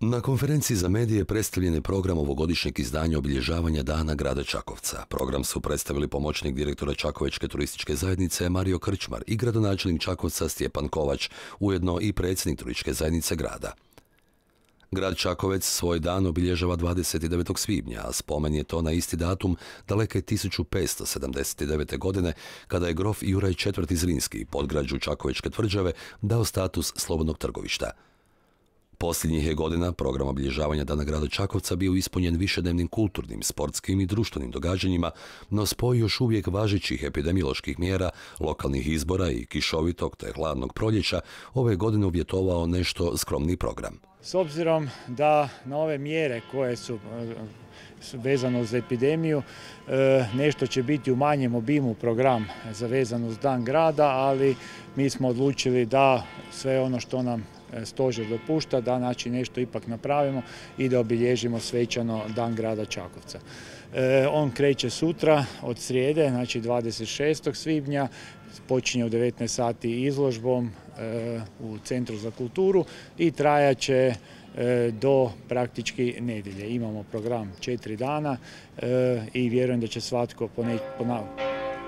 Na konferenciji za medije predstavljen je program ovogodišnjeg izdanja obilježavanja Dana grada Čakovca. Program su predstavili pomoćnik direktora Čakovečke turističke zajednice Mario Krčmar i gradonačelnik Čakovca Stjepan Kovač, ujedno i predsjednik turističke zajednice grada. Grad Čakovec svoj dan obilježava 29. svibnja, a spomen je to na isti datum daleke 1579. godine, kada je grof Juraj IV. Zrinski podgrađu Čakovečke tvrđave dao status slobodnog trgovišta. Posljednjih je godina program obilježavanja Dana grada Čakovca bio ispunjen višednevnim kulturnim, sportskim i društvenim događanjima, no spoj još uvijek važećih epidemioloških mjera, lokalnih izbora i kišovitog te hladnog proljeća ove godine uvjetovao nešto skromni program. S obzirom da na ove mjere koje su vezano uz epidemiju, nešto će biti u manjem obimu program za vezano uz Dan grada, ali mi smo odlučili da sve ono što nam stožer dopušta, da znači nešto ipak napravimo i da obilježimo svečano Dan grada Čakovca. On kreće sutra od srijede, znači 26. svibnja, počinje u 19 sati izložbom u Centru za kulturu i trajaće do praktički nedjelje. Imamo program 4 dana i vjerujem da će svatko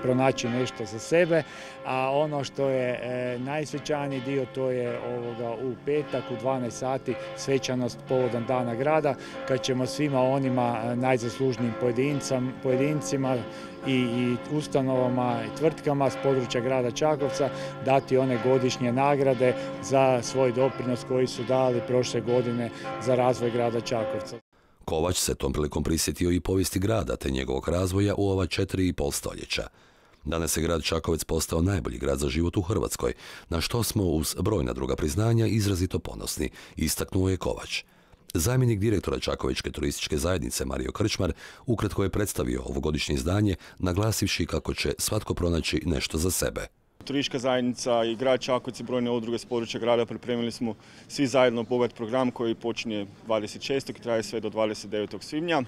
pronaći nešto za sebe, a ono što je najsvečaniji dio to je u petak u 12 sati svečanost povodom Dana grada, kad ćemo svima onima najzaslužnijim pojedincima i ustanovama i tvrtkama s područja grada Čakovca dati one godišnje nagrade za svoj doprinos koji su dali prošle godine za razvoj grada Čakovca. Kovač se tom prilikom prisjetio i povijesti grada te njegovog razvoja u ova 4,5 stoljeća. Danas je grad Čakovec postao najbolji grad za život u Hrvatskoj, na što smo uz brojna druga priznanja izrazito ponosni, istaknuo je Kovač. Zamjenik direktora Čakovečke turističke zajednice Mario Krčmar ukratko je predstavio ovogodišnje izdanje, naglasivši kako će svatko pronaći nešto za sebe. Turistička zajednica i grad Čakovec i brojne udruge s područja grada pripremili smo svi zajedno bogat program koji počinje 26. i traje sve do 29. svibnja.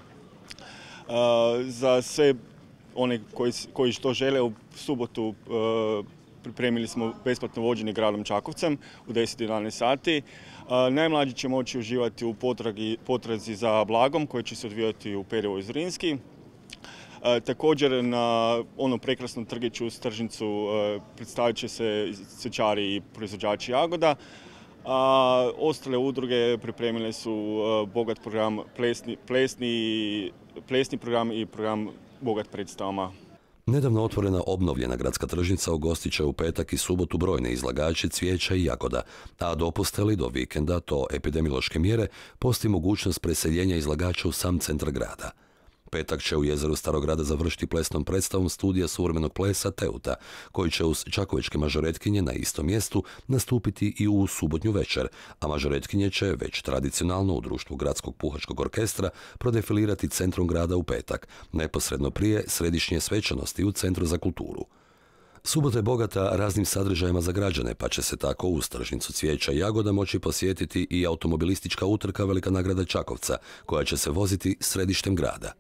Za sve one koji što žele u subotu pripremili smo besplatno vođenje gradom Čakovcem u 10-11 sati. Najmlađi će moći uživati u potrazi za blagom koji će se odvijati u Perjevoj Zrinski. Također na onom prekrasnom trgiću u Stržnicu predstavit će se cvjećari i proizvođači jagoda. Ostale udruge pripremile su bogat program, plesni program i program bogat predstavama. Nedavno otvorena obnovljena gradska tržnica ugostit će u petak i subotu brojne izlagače cvijeća i jagoda, a dopuste li do vikenda to epidemiološke mjere, postoji mogućnost preseljenja izlagača u sam centar grada. Petak će u jezeru Starog grada završiti plesnom predstavom studija suvremenog plesa Teuta, koji će uz čakovečke mažoretkinje na istom mjestu nastupiti i u subotnju večer, a mažoretkinje će već tradicionalno u društvu Gradskog puhačkog orkestra prodefilirati centrom grada u petak, neposredno prije središnje svečanosti u Centru za kulturu. Subota je bogata raznim sadržajima za građane, pa će se tako uz tržnicu cvijeća i jagoda moći posjetiti i automobilistička utrka Velika nagrada Čakovca, koja će se voziti središtem grada.